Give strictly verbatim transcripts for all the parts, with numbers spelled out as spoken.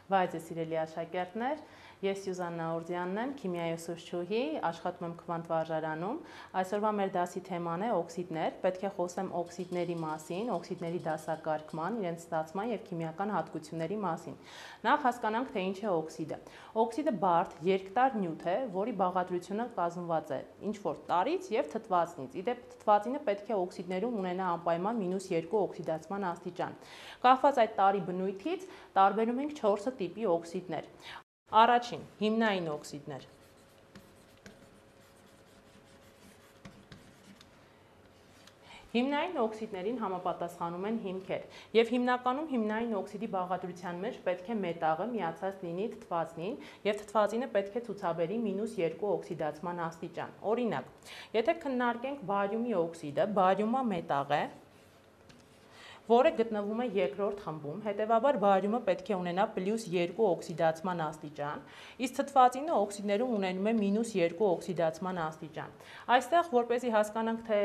Բայց սիրելի աշակերտներ, ես Սյուզաննա Օրդյանն եմ, քիմիայի ուսուցչուհի, աշխատում եմ Քվանտ վարժարանում։ Այսօրվա մեր դասի թեման է օքսիդներ։ Պետք է խոսեմ օքսիդների մասին, օքսիդների դասակարգման, իրենց ստացման եւ քիմիական հատկությունների մասին։ Նախ հասկանանք, թե ինչ է օքսիդը։ Օքսիդը բարդ, երկտար նյութ է, որի բաղադրությունը կազմված է ինչ-որ տարրից եւ թթվածնից։ Իդեպ թթվածինը պետք է օքսիդներում ունենա անպայման մինուս երկու օքսիդացման աստիճան։ Կախված այդ տարրի բնույթից տարբերում ենք չորս տիպի օքսիդներ։ Առաջին, հիմնային օքսիդներ։ Հիմնային օքսիդներին համապատասխանում են հիմքեր, եւ հիմնականում հիմնային օքսիդի բաղադրության մեջ պետք է մետաղը միացած լինի թթվածնին, եւ թթվածինը պետք է ցուցաբերի մինուս երկու օքսիդացման աստիճան։ Օրինակ, եթե քննարկենք բարիումի օքսիդը, բարիումը մետաղ է, որը գտնվում է երկրորդ խմբում, հետևաբար բարիումը պետք է ունենա պլյուս երկու օքսիդացման աստիճան, իսկ թթվածինը օքսիդներում ունենում է մինուս երկու օքսիդացման աստիճան։ Այստեղ, որպեսզի հասկանանք, թե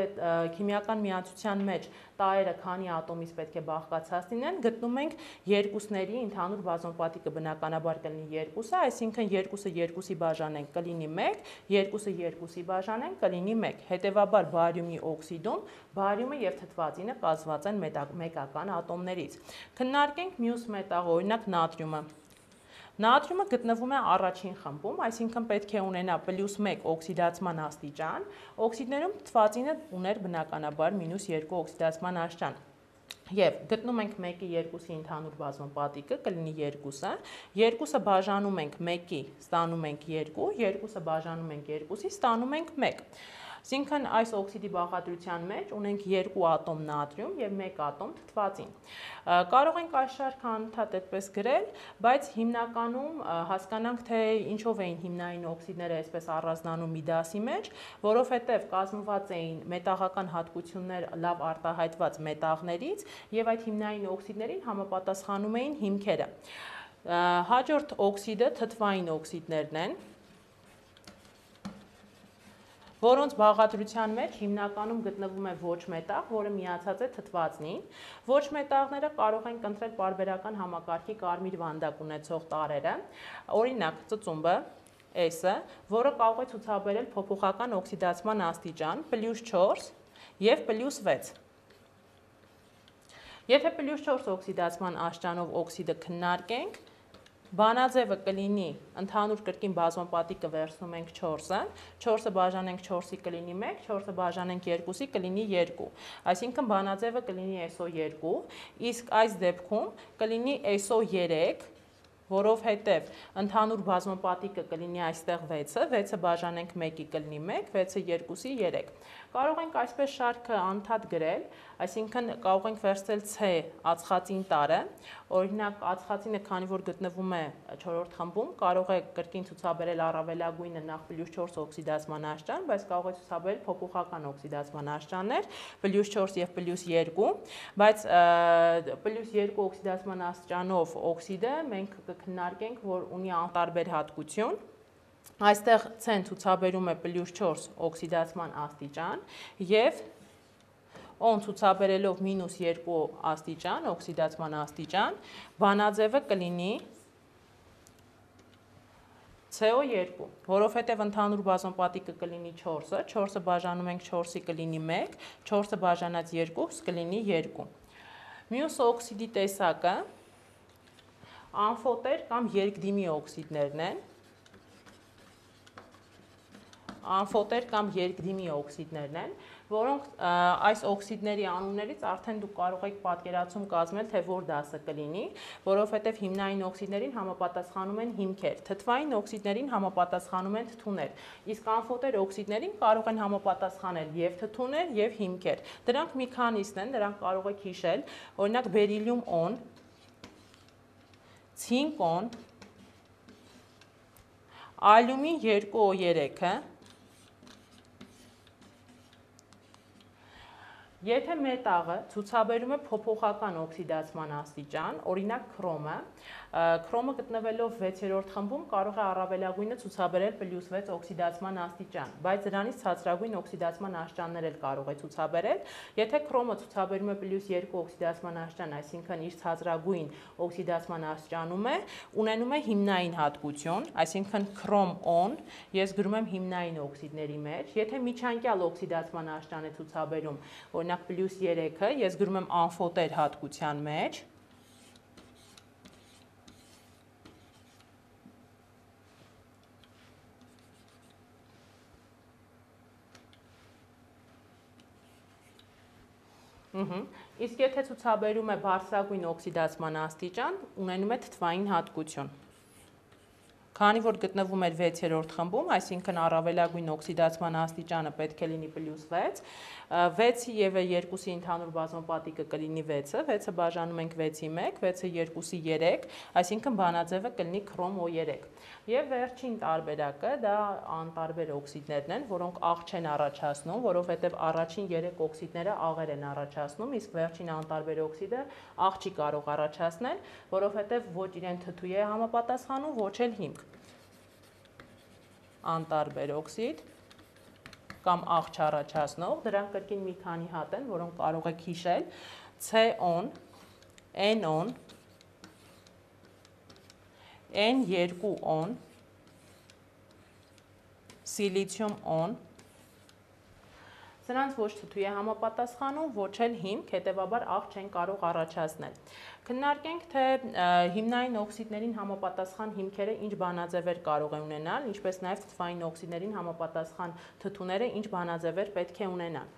քիմիական միացության մեջ տարրերը քանի ատոմից պետք է բաղկացած լինեն, գտնում ենք երկուսների ընդհանուր բազոն պատիկը բնականաբար կլինի երկուսը, այսինքն երկուսը երկուսի բաժանենք կլինի մեկ, երկուսը երկուսի բաժանենք կլինի մեկ։ Հետևաբար բարիումի օքսիդում բարիումը եւ թթվածինը կազմված են մեկական ատոմներից։ Քննարկենք մյուս մետաղը, օրինակ նատրիումը։ Նատրիումը գտնվում է առաջին խմբում, այսինքն պետք է ունենա պլյուս մեկ օքսիդացման աստիճան, օքսիդներում թթվածինը ուներ բնականաբար մինուս երկու օքսիդացման աստիճան։ Եվ գտնում ենք մեկի երկուսի ընդհանուր բազոն պատիկը կլինի երկուսը, երկուսը բաժանում ենք մեկի, ստանում ենք երկու, երկուսը բաժանում ենք երկուսի, ստանում ենք մեկ։ Այսինքն այս օքսիդի բաղադրության մեջ ունենք երկու ատոմ նատրիում եւ մեկ ատոմ թթվածին։ Կարող ենք այս շարքը անընդհատ այդպես գրել, բայց հիմնականում հասկանանք, թե ինչով էին հիմնային օքսիդները այսպես առանձնանում մի դասի մեջ, որովհետեւ կազմված էին մետաղական հատկություններ լավ արտահայտված մետաղներից եւ այդ հիմնային օքսիդներին համապատասխանում էին հիմքերը։ Հաջորդ օքսիդը թթվային օքսիդներն են, որոնց բաղադրության մեջ հիմնականում գտնվում է ոչ մետաղ, որը միացած է թթվածնին։ Ոչ մետաղները կարող են ընտրել պարբերական համակարգի կարմիր վանդակ ունեցող տարրերը, օրինակ ծծումբը, S-ը, որը կարող է ցուցաբերել փոփոխական օքսիդացման աստիճան պլյուս չորս եւ պլյուս վեց։ Եթե պլյուս չորս օքսիդացման աստիճանով օքսիդը քննարկենք, բանաձևը կլինի ընդհանուր կրկին բազոն պատիկը վերցնում ենք չորսը, չորսը բաժանենք չորսի կլինի մեկ, չորսը բաժանենք երկուսի կլինի երկու, այսինքն բանաձևը կլինի S O երկու, իսկ այս դեպքում կլինի S O երեք, որովհետև ընդհանուր բազոն պատիկը կլինի այստեղ վեցը, վեցը բաժանենք մեկի կլինի մեկ, վեցը երկուսի երեք։ Կարող ենք այսպես շարքը անընդհատ գրել, այսինքն կարող ենք վերցնել C ածխածին տարրը, օրինակ ածխածինը, քանի որ գտնվում է չորրորդ խմբում, կարող է կրկին ցուցաբերել առավելագույնը նախ պլյուս չորս օքսիդացման աստիճան, բայց կարող է ցուցաբերել փոփոխական օքսիդացման աստիճաններ, պլյուս չորս եւ պլյուս երկու, բայց պլյուս երկու օքսիդացման աստիճանով օքսիդը մենք կքննարկենք, որ ունի անտարբեր հատկություն։ Այստեղ C-ն ցուցաբերում է պլյուս չորս օքսիդացման աստիճան եւ O-ն ցուցաբերելով մինուս երկու աստիճան, օքսիդացման աստիճան, բանաձևը կլինի C O երկու, որովհետև ընդհանուր բազոն պատիկը կլինի չորսը, չորսը բաժանում ենք չորսի կլինի մեկ, չորսը բաժանած երկու կլինի երկու։ Մյուս օքսիդի տեսակը ամֆոտեր կամ երկդիմի օքսիդներն են։ Ամֆոտեր կամ երկդիմի օքսիդներն են, որոնք այս օքսիդների անուններից արդեն դուք կարող եք պատկերացում կազմել, թե որ դասը կլինի, որովհետև հիմնային օքսիդներին համապատասխանում են հիմքեր, թթվային օքսիդներին համապատասխանում են թթուներ, իսկ ամֆոտեր օքսիդներին կարող են համապատասխանել եւ թթուներ եւ հիմքեր։ Դրանք մի քանիսն են, դրանք կարող եք հիշել, օրինակ բերիլիում օն, ցինկոն, ալյումին երկու O երեքը, եթե մետաղը ցուցաբերում է փոփոխական օքսիդացման աստիճան, օրինակ քրոմը, Քրոմը գտնվելով վեցերորդ խմբում կարող է առավելագույնը ցուցաբերել պլյուս վեց օքսիդացման աստիճան, բայց դրանից ցածրագույն օքսիդացման աստիճաններ էլ կարող է ցուցաբերել։ Եթե քրոմը ցուցաբերում է պլյուս երկու օքսիդացման աստիճան, այսինքն իր ցածրագույն օքսիդացման աստիճանում է, ունենում է հիմնային հատկություն, այսինքն քրոմ on, ես գրում եմ հիմնային օքսիդների մեջ, եթե միջանկյալ օքսիդացման աստիճան է ցուցաբերում, օրինակ պլյուս երեքը, ես գրում եմ ամֆոտեր հատկության մեջ, Իսկ եթե ցուցաբերում է բարձրագույն օքսիդացման աստիճան, ունենում է թթվային հատկություն։ Քանի որ գտնվում էր վեցերորդ խմբում, այսինքն առավելագույն օքսիդացման աստիճանը պետք է լինի պլյուս վեց, վեցի և երկուսի ընդհանուր բազմապատիկը կլինի վեցը, վեցը բաժանում ենք վեցի մեկ, վեցը երկուսի երեք, այսինքն բանաձևը կլինի քրոմ օ երեք։ Եվ վերջին տարբերակը դա անտարբեր օքսիդներն են, որոնք աղ չեն առաջացնում, որովհետև առաջին երեք օքսիդները աղեր են առաջացնում, իսկ վերջին անտարբեր օքսիդը աղ չի կարող առաջացնել, որովհետև ոչ իրեն թթու է համապատասխանում, ոչ էլ հիմք։ Անտարբեր օքսիդ կամ աղ չառաջացնող, դրանք կրկին մի քանի հատ են, որոնք կարող եք հիշել, C on, N on, N երկու on, սիլիցիում on, սրանց ոչ թթու է համապատասխանում, ոչ էլ հիմք, հետևաբար աղ չեն կարող առաջացնել։ Քննարկենք, թե հիմնային օքսիդներին համապատասխան հիմքերը ինչ բանաձևեր կարող է ունենալ, ինչպես նաև թթվային օքսիդներին համապատասխան թթուները ինչ բանաձևեր պետք է ունենան։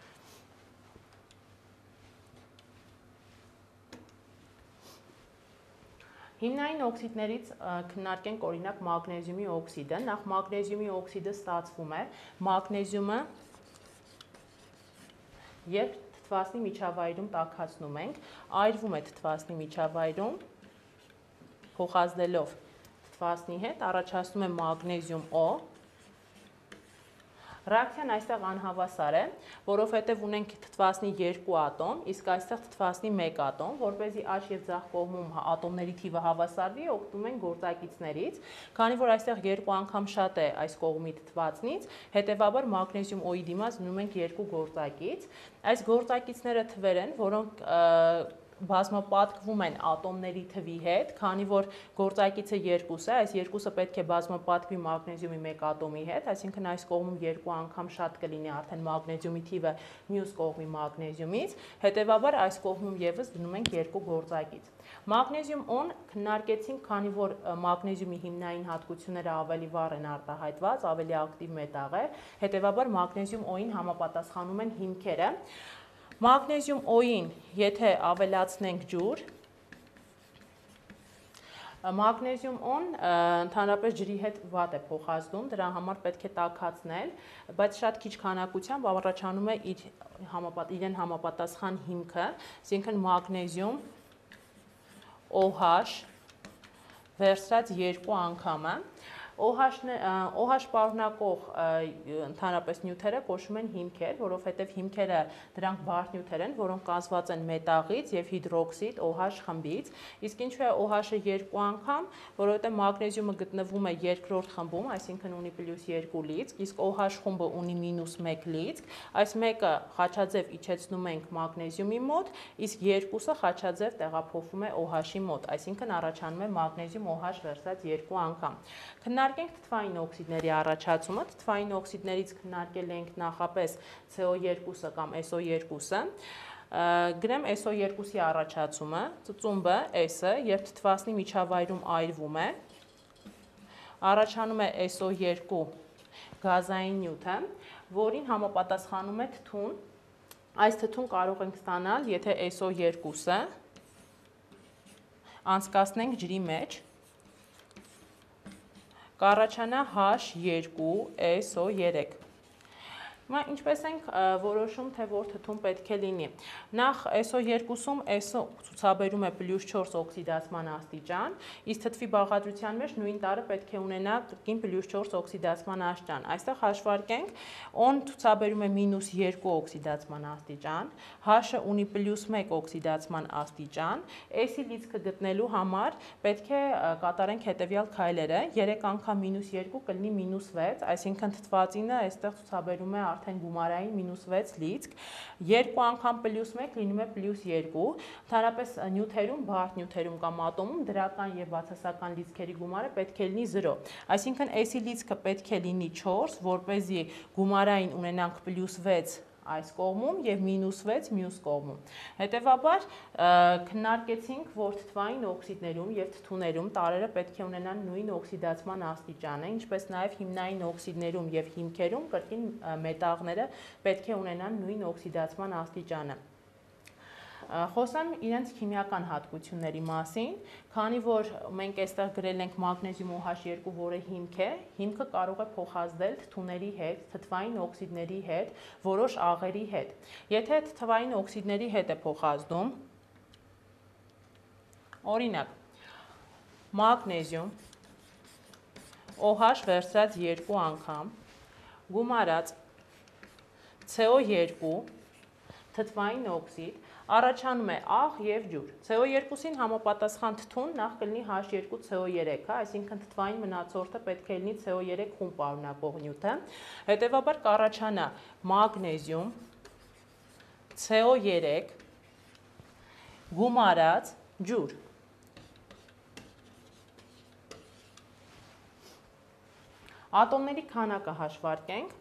Հիմնային օքսիդներից քննարկենք օրինակ մագնեզիումի օքսիդը, նախ մագնեզիումի օքսիդը ստացվում է, մագնեզիումը երբ թթվասնի միջավայրում տաքացնում ենք, այրվում է թթվասնի միջավայրում, փոխազդելով թթվասնի հետ, առաջացնում է մագնեզիում օ, Ռեակցիան այստեղ անհավասար է, որովհետև ունենք թթվասնի երկու ատոմ, իսկ այստեղ թթվասնի մեկ ատոմ, որպեսզի աջ և ձախ կողմում ատոմների թիվը հավասարվի, օգտվում ենք գործակիցներից, քանի որ այստեղ երկու անգամ շատ է այս կողմի թթվասնից, հետևաբար մագնեզիում օ-ի դիմաց դնում ենք երկու գործակից, այս գործակիցները թվեր են, որոնք բազմապատկվում են ատոմների թվի հետ, քանի որ գործակիցը երկուս է, այս երկուսը պետք է բազմապատկվի մագնեզիումի մեկ ատոմի հետ, այսինքն այս կողմում երկու անգամ շատ կլինի արդեն մագնեզիումի թիվը մյուս կողմի մագնեզիումից, հետևաբար այս կողմում ևս դնում ենք երկու գործակից։ Մագնեզիում օն քննարկեցինք, քանի որ մագնեզիումի հիմնային հատկությունները ավելի վառ են արտահայտված, ավելի ակտիվ մետաղ է, հետևաբար մագնեզիում օ-ին համապատասխանում են հիմքերը։ Մագնեզիում օ-ին, եթե ավելացնենք ջուր, մագնեզիում օն ընդհանրապես ջրի հետ վատ է փոխազդում, դրա համար պետք է տաքացնել, բայց շատ քիչ քանակությամբ առաջանում է իր իրեն համապատասխան հիմքը, այսինքն մագնեզիում OH վերցրած երկու անգամը, OH պարունակող ընդհանրապես նյութերը կոչվում են հիմքեր, որովհետև հիմքերը դրանք բարդ նյութեր են, որոնք կազմված են մետաղից և հիդրոքսիդ OH խմբից, իսկ ինչու է OH-ը երկու անգամ, որովհետև մագնեզիումը գտնվում է երկրորդ խմբում, այսինքն ունի պլյուս երկու լիցք, իսկ OH խումբը ունի մինուս մեկ լիցք, այս մեկը խաչաձև իջեցնում ենք մագնեզիումի մոտ, իսկ երկուսը խաչաձև տեղափոխվում է OH-ի մոտ, այսինքն առաջանում է մագնեզիում OH վերցրած երկու անգամ։ Քննարկենք թթվային օքսիդների առաջացումը, թթվային օքսիդներից քննարկել ենք նախապես C O երկուսը կամ S O երկուսը, գրեմ S O երկուսի առաջացումը, ծծումբը S-ը, երբ թթվասնի միջավայրում այրվում է, առաջանում է S O երկու գազային նյութը, որին համապատասխանում է թթուն, այս թթուն կարող ենք ստանալ, եթե S O երկուսը անցկացնենք ջրի մեջ, կառաջանա H երկու S O երեք, Հիմա ինչպես ենք որոշում, թե որ թթուն պետք է լինի։ Նախ S O երկուսում S O ցուցաբերում է պլյուս չորս օքսիդացման աստիճան, իսկ թթվի բաղադրության մեջ նույն տարը պետք է ունենա կրկին պլյուս չորս օքսիդացման աստիճան։ Այստեղ հաշվարկենք, O-ն ցուցաբերում է մինուս երկու օքսիդացման աստիճան, H-ը ունի պլյուս մեկ օքսիդացման աստիճան, S-ի լիցքը գտնելու համար պետք է կատարենք հետևյալ քայլերը, երեք անգամ մինուս երկու կլինի մինուս վեց, այսինքն թթվածինը այստեղ ցուցաբերում է արդեն գումարային մինուս վեց լիցք, երկու անգամ պլյուս մեկ լինում է պլյուս երկու, ընդհանրապես նյութերում, բարդ նյութերում կամ ատոմում դրական եւ բացասական լիցքերի գումարը պետք է լինի զրո, այսինքն S-ի լիցքը պետք է լինի չորս, որպեսզի գումարային ունենանք պլյուս վեց այս կողմում եւ մինուս վեց մյուս կողմում։ Հետևաբար քննարկեցինք, որ թթվային օքսիդներում եւ թթուներում տարրերը պետք է ունենան նույն օքսիդացման աստիճանը, ինչպես նաեւ հիմնային օքսիդներում եւ հիմքերում կրկին մետաղները պետք է ունենան նույն օքսիդացման աստիճանը։ Խոսեմ իրենց քիմիական հատկությունների մասին, քանի որ մենք այստեղ գրել ենք մագնեզիում O H երկու, որը հիմք է, հիմքը կարող է փոխազդել թթուների հետ, թթվային օքսիդների հետ, որոշ աղերի հետ։ Եթե թթվային օքսիդների հետ է փոխազդում, օրինակ, մագնեզիում O H վերցրած երկու անգամ, գումարած C O երկու, թթվային օքսիդ, առաջանում է աղ եւ ջուր։ C O երկուսին համապատասխան թթուն նախ կլինի H երկու C O երեք, այսինքն թթվային մնացորդը պետք է լինի C O երեք խումբ պարունակող նյութը։ Հետևաբար կառաջանա մագնեզիում C O երեք գումարած ջուր։ Ատոմների քանակը հաշվարկենք։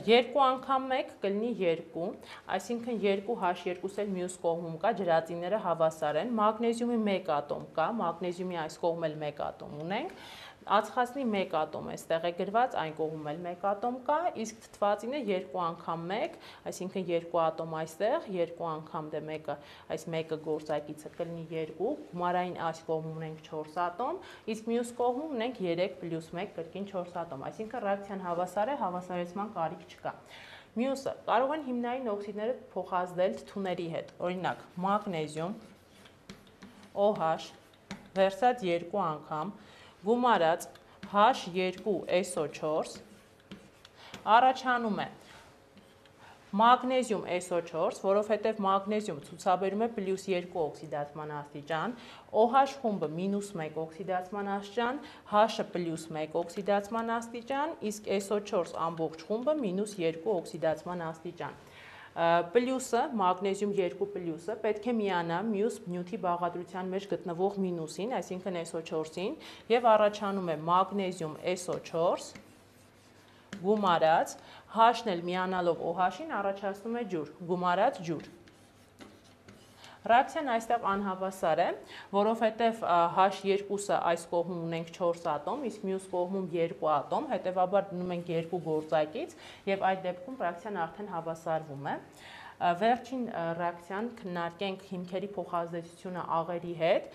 Երկու անգամ մեկ կլինի երկու, այսինքն երկու H երկուս էլ մյուս կողմում կա, ջրածինները հավասար են, մագնեզիումի մեկ ատոմ կա, մագնեզիումի այս կողմ էլ մեկ ատոմ ունենք, ածխածնի մեկ ատոմ այստեղ է գրված, այն կողմում էլ մեկ ատոմ կա, իսկ թթվածինը երկու անգամ մեկ, այսինքն երկու ատոմ այստեղ, երկու անգամ դե մեկը, այս մեկը գործակիցը կլինի երկու, գումարային այս կողմում ունենք չորս ատոմ, իսկ մյուս կողմում ունենք երեք պլյուս մեկ կրկին չորս ատոմ, այսինքն ռեակցիան հավասար է, հավասարեցման կարիք չկա։ Մյուսը, կարող են հիմնային օքսիդները փոխազդել թթուների հետ, օրինակ, մագնեզիում O H վերցած երկու անգամ, գումարած H երկու S O չորս, առաջանում է մագնեզիում S O չորս, որովհետև մագնեզիում ցուցաբերում է պլյուս երկու օքսիդացման աստիճան, O H խումբը մինուս մեկ օքսիդացման աստիճան, H-ը պլյուս մեկ օքսիդացման աստիճան, իսկ S O չորս ամբողջ խումբը մինուս երկու օքսիդացման աստիճան։ Պլյուսը, մագնեզիում երկու պլյուսը պետք է միանա մյուս նյութի բաղադրության մեջ գտնվող մինուսին, այսինքն S O չորսին, եւ առաջանում է մագնեզիում S O չորս գումարած, H-ն էլ միանալով O H-ին առաջացնում է ջուր, գումարած ջուր։ Ռեակցիան այստեղ անհավասար է, որովհետև H երկուսը այս կողմում ունենք չորս ատոմ, իսկ մյուս կողմում երկու ատոմ, հետևաբար դնում ենք երկու գործակից եւ այդ դեպքում ռեակցիան արդեն հավասարվում է։ Վերջին ռեակցիան քննարկենք հիմքերի փոխազդեցությունը աղերի հետ։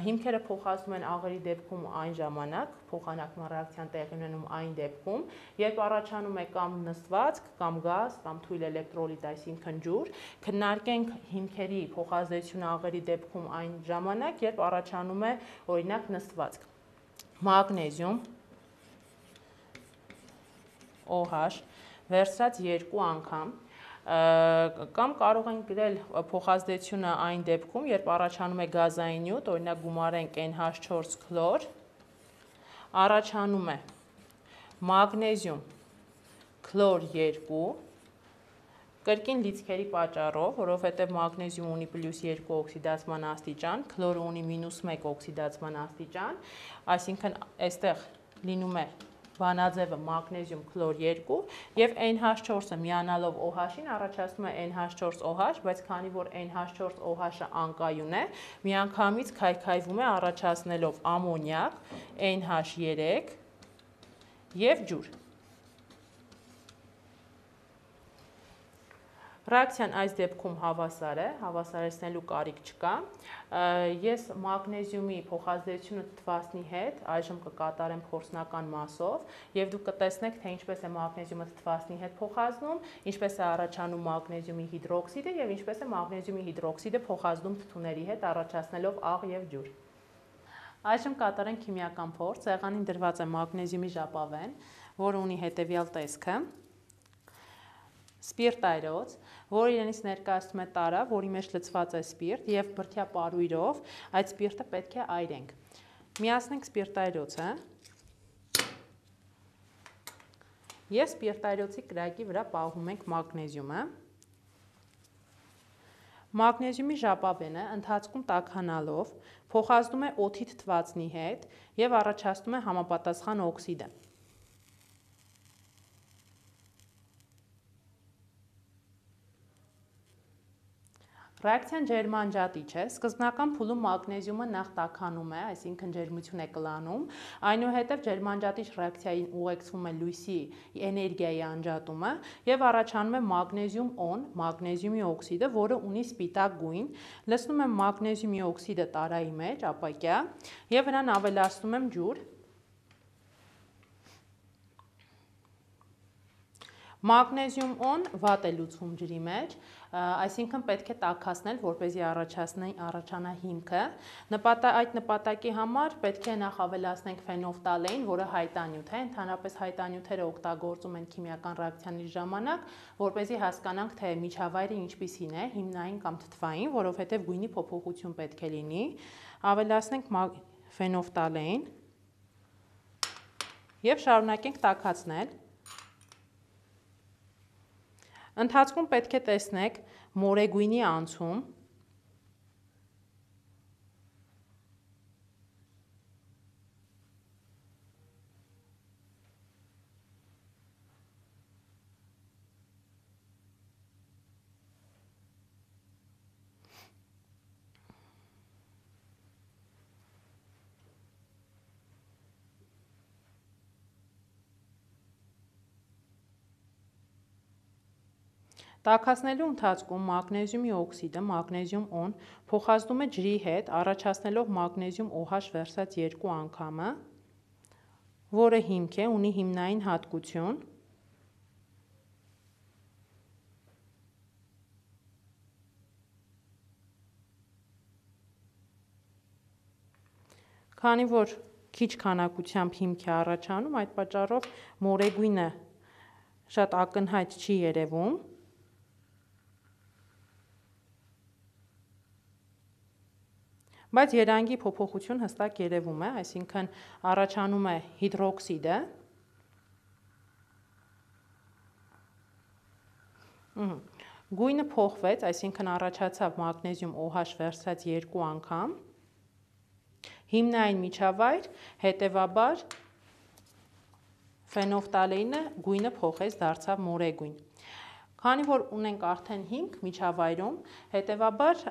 Հիմքերը փոխազդում են աղերի դեպքում այն ժամանակ, փոխանակման ռեակցիան տեղի ունենում այն դեպքում, երբ առաջանում է կամ նստվածք, կամ գազ, կամ թույլ էլեկտրոլիտ, այսինքն ջուր։ Քննարկենք հիմքերի փոխազդեցությունը աղերի դեպքում այն ժամանակ, երբ առաջանում է օրինակ նստվածք։ Մագնեզիում O H վերցրած երկու անգամ կամ կարող ենք գրել փոխազդեցությունը այն դեպքում, երբ առաջանում է գազային նյութ, օրինակ գումարենք N H չորս քլոր, առաջանում է մագնեզիում քլոր երկու, կրկին լիցքերի պատճառով, որովհետև մագնեզիում ունի պլյուս երկու օքսիդացման աստիճան, քլորը ունի մինուս մեկ օքսիդացման աստիճան, այսինքն այստեղ լինում է բանաձևը մագնեզիում քլոր երկու եւ N H չորսը միանալով O H-ին առաջացնում է N H չորս O H, բայց քանի որ N H չորս O H-ը անկայուն է, միանգամից քայքայվում է առաջացնելով ամոնիակ, N H երեք եւ ջուր։ Ռեակցիան այս դեպքում հավասար է, հավասարեցնելու կարիք չկա։ Ես մագնեզիումի փոխազդեցությունը թթվածնի հետ այժմ կկատարեմ փորձնական մասով եւ դուք կտեսնեք, թե ինչպես է մագնեզիումը թթվածնի հետ փոխազդում, ինչպես է առաջանում մագնեզիումի հիդրոքսիդը եւ ինչպես է մագնեզիումի հիդրոքսիդը փոխազդում թթուների հետ, առաջացնելով աղ եւ ջուր։ Այժմ կատարենք քիմիական փորձ։ Սեղանին դրված է մագնեզիումի ժապավեն, որը ունի հետեւյալ տեսքը։ Սպիրտայրոց, որը իրենից ներկայացնում է տարա, որի մեջ լցված է սպիրտ եւ բրդյա պարույրով այդ սպիրտը պետք է այրենք։ Միացնենք սպիրտայրոցը եւ սպիրտայրոցի կրակի վրա պահում ենք մագնեզիումը։ Մագնեզիումի ժապավենը ընթացքում տաքանալով փոխազդում է օդի թթվածնի հետ եւ առաջացնում է համապատասխան օքսիդը։ Ռեակցիան ջերմանջատիչ է, սկզբնական փուլում մագնեզիումը նախ տաքանում է, այսինքն ջերմություն է կլանում, այնուհետև ջերմանջատիչ ռեակցիային ուղեկցվում է լույսի էներգիայի անջատումը եւ առաջանում է մագնեզիում-օն, մագնեզիումի օքսիդը, որը ունի սպիտակ գույն, լցնում եմ մագնեզիումի օքսիդը տարայի մեջ, ապակյա, եւ նրան ավելացնում եմ ջուր։ Մագնեզիում-օն վատ է լուծվում ջրի մեջ, այսինքն պետք է տաքացնել, որպեսզի առաջանա հիմքը։ Այդ նպատակի համար պետք է նախ ավելացնենք ֆենոլֆթալեին, որը հայտանյութ է, ընդհանրապես հայտանյութերը օգտագործում են քիմիական ռեակցիաների ժամանակ, որպեսզի հասկանանք, թե միջավայրը ինչպիսին է, հիմնային կամ թթվային, որովհետև գույնի փոփոխություն պետք է լինի։ Ավելացնենք ֆենոլֆթալեին եւ շարունակենք տաքացնել։ Ընթացքում պետք է տեսնեք մորեգույնի անցում։ Տաքացնելու ընթացքում մագնեզիումի օքսիդը, մագնեզիում-օն, փոխազդում է ջրի հետ, առաջացնելով մագնեզիում OH վերսած երկու անգամը, որը հիմք է, ունի հիմնային հատկություն։ Քանի որ քիչ քանակությամբ հիմք է առաջանում, այդ պատճառով մորեգույնը շատ ակնհայտ չի երևում։ Բայց երանգի փոփոխություն հստակ երևում է, այսինքն առաջանում է հիդրոքսիդը։ Գույնը փոխվեց, այսինքն առաջացավ մագնեզիում OH վերսած երկու անգամ։ Հիմնային միջավայր, հետևաբար ֆենոլֆթալեինը գույնը փոխեց, դարձավ մորեգույն։ Քանի որ ունենք արդեն հիմք միջավայրում, հետևաբար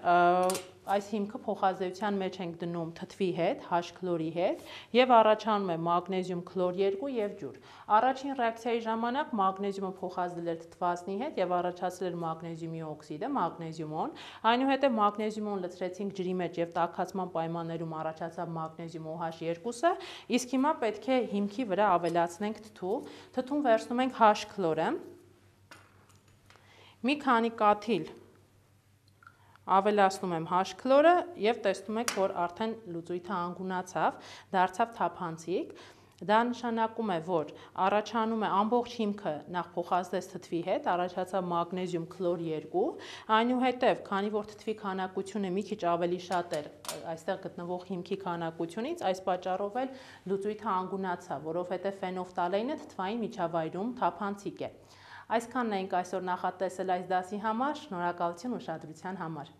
այս հիմքը փոխազդեցության մեջ ենք դնում թթվի հետ, H քլորի հետ եւ առաջանում է մագնեզիում քլոր երկու եւ ջուր։ Առաջին ռեակցիայի ժամանակ մագնեզիումը փոխազդել էր թթվածնի հետ եւ առաջացել էր մագնեզիումի օքսիդը, մագնեզիում-օն, այնուհետեւ մագնեզիում-օն լցրեցինք ջրի մեջ եւ տաքացման պայմաններում առաջացավ մագնեզիում OH երկուսը, իսկ հիմա պետք է հիմքի վրա ավելացնենք թթու, թթուն վերցնում ենք H քլորը։ Մի քանի կաթիլ ավելացնում եմ H քլորը եւ տեսնում եք, որ արդեն լուծույթը անգունացավ, դարձավ թափանցիկ։ Դա նշանակում է, որ առաջանում է ամբողջ հիմքը նախ փոխազդեց թթվի հետ, առաջացավ մագնեզիում քլոր երկու, այնուհետև, քանի որ թթվի քանակությունը մի քիչ ավելի շատ էր այստեղ գտնվող հիմքի քանակությունից, այս պատճառով էլ լուծույթը անգունացավ, որովհետև ֆենոլֆթալեինը թթվային միջավայրում թափանցիկ է։ Այսքանն էինք այսօր նախատեսել այս դասի համար, շնորհակալություն ուշադրության համար։